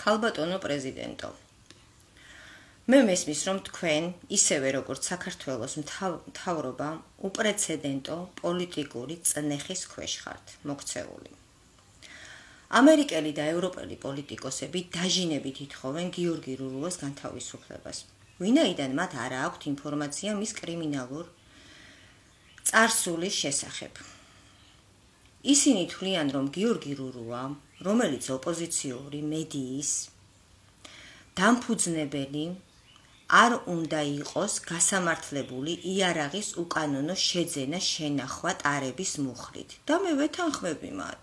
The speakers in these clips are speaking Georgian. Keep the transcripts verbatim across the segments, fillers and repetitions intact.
ქალბატონო პრეზიდენტო. მე მესმის, რომ თქვენ, ისევე როგორც საქართველოს მთავრობა, უპრეცედენტო პოლიტიკური წნეხის ქვეშ ხართ მოქცეული. ამერიკელი და ევროპელი პოლიტიკოსები დაჟინებით ითხოვენ გიორგი რურუას განთავისუფლებას, ვინაიდან მათ არა აქვთ ინფორმაცია მის კრიმინალურ წარსულის შესახებ. ისინი თვლიან, რომ გიორგი რურუა, რომელიც ოპოზიციური მედიის დამფუძნებელი, არ უნდა იყოს გასამართლებული იარაღის უკანონო შეძენა შენახვა ტარების მუხლით და მე ვეთანხმები მათ.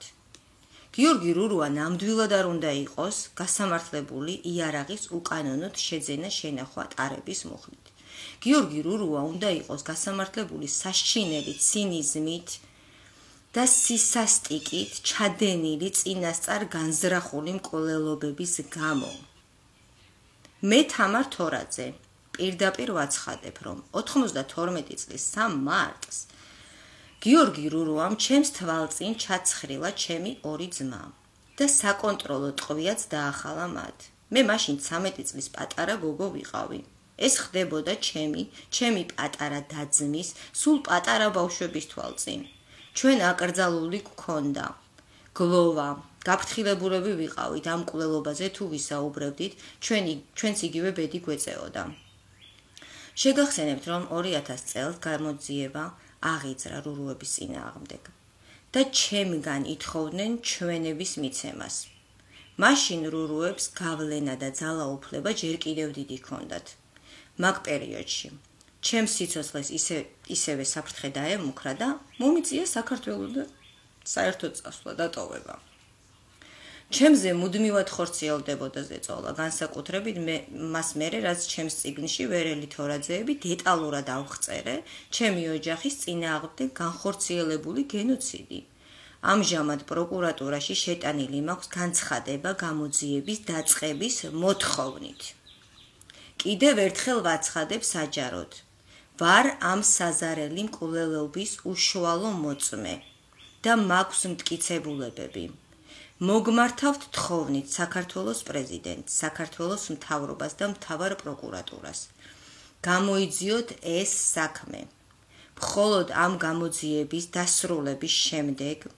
გიორგი რურუა ნამდვილად არ უნდა იყოს გასამართლებული იარაღის უკანონოდ შეძენა შენახვა ტარების მუხლით. გიორგი რურუა უნდა იყოს გასამართლებული სასჩინელი ცინიზმით და სისასტიკით ჩადენილი წინასწარ განზრახული მკვლელობების გამო. მე თამარ თორაძე პირდაპირ ვაცხადებ, რომ ოთხმოცდათორმეტი წლის სამ მარტს გიორგი რურუამ ჩემს თვალწინ ჩაცხრილა ჩემი ორი ძმა და საკონტროლო ტყვიაც დაახალა მათ. მე მაშინ ცამეტი წლის პატარა გოგო ვიყავი. ეს ხდებოდა ჩემი, ჩემი პატარა და-ძმის, სულ პატარა ბავშვების თვალწინ. ჩვენ აკრძალული გქონდა. გლოვა, გაფრთხილებულები ვიყავით ამ მკვლელობაზე თუ ვისაუბრებდით, ჩვენი ჩვენც იგივე ბედი გვეწეოდა. შეგახსენებთ, რომ ორი ათას წელს გამოძიება აღიძრა რურუების წინააღმდეგ და ჩემგან ითხოვდნენ ჩვენების მიცემას. მაშინ რურუებს გავლენა და ძალაუფლება ჯერ კიდევ დიდი ჰქონდათ. მაგ პერიოდში ჩემს სიცოცხლეს ისე ისევე საფრთხე დაემუქრა და მომიწია საქართველოს საერთო წასვლა და ტოვება. ჩემზე მუდმივად ხორციელდებოდა ზეწოლა, განსაკუთრებით მას მერე, რაც ჩემს წიგნში ვერელი თორაძეები დეტალურად ავხწერე ჩემი ოჯახის წინააღმდეგ განხორციელებული გენოციდი. ამჟამად პროკურატურაში შეტანილი მაქვს განცხადება გამოძიების დაწყების მოთხოვნით. კიდევ ერთხელ ვაცხადებ საჯაროდ, ვარ ამ საზარელი მკვლელობის უშუალო მოწმე და მაქვს მტკიცებულებები. მოგმართავთ თხოვნით საქართველოს პრეზიდენტს, საქართველოს მთავრობას და მთავარ პროკურატურას. გამოიძიოთ ეს საქმე. მხოლოდ ამ გამოძიების დასრულების შემდეგ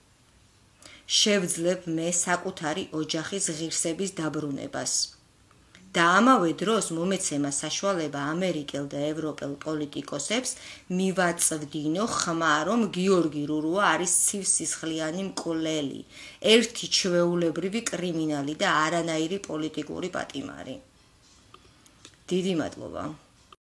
შევძლებ მე საკუთარი ოჯახის ღირსების დაბრუნებას. და ამავე დროს მომეცემა საშუალება ამერიკელ და ევროპელ პოლიტიკოსებს მივაწვდინო ხმა, რომ გიორგი რურუა არის ცივსისხლიანი მკვლელი, ერთი ჩვეულებრივი კრიმინალი და არანაირი პოლიტიკური პატიმარი. დიდი მადლობა.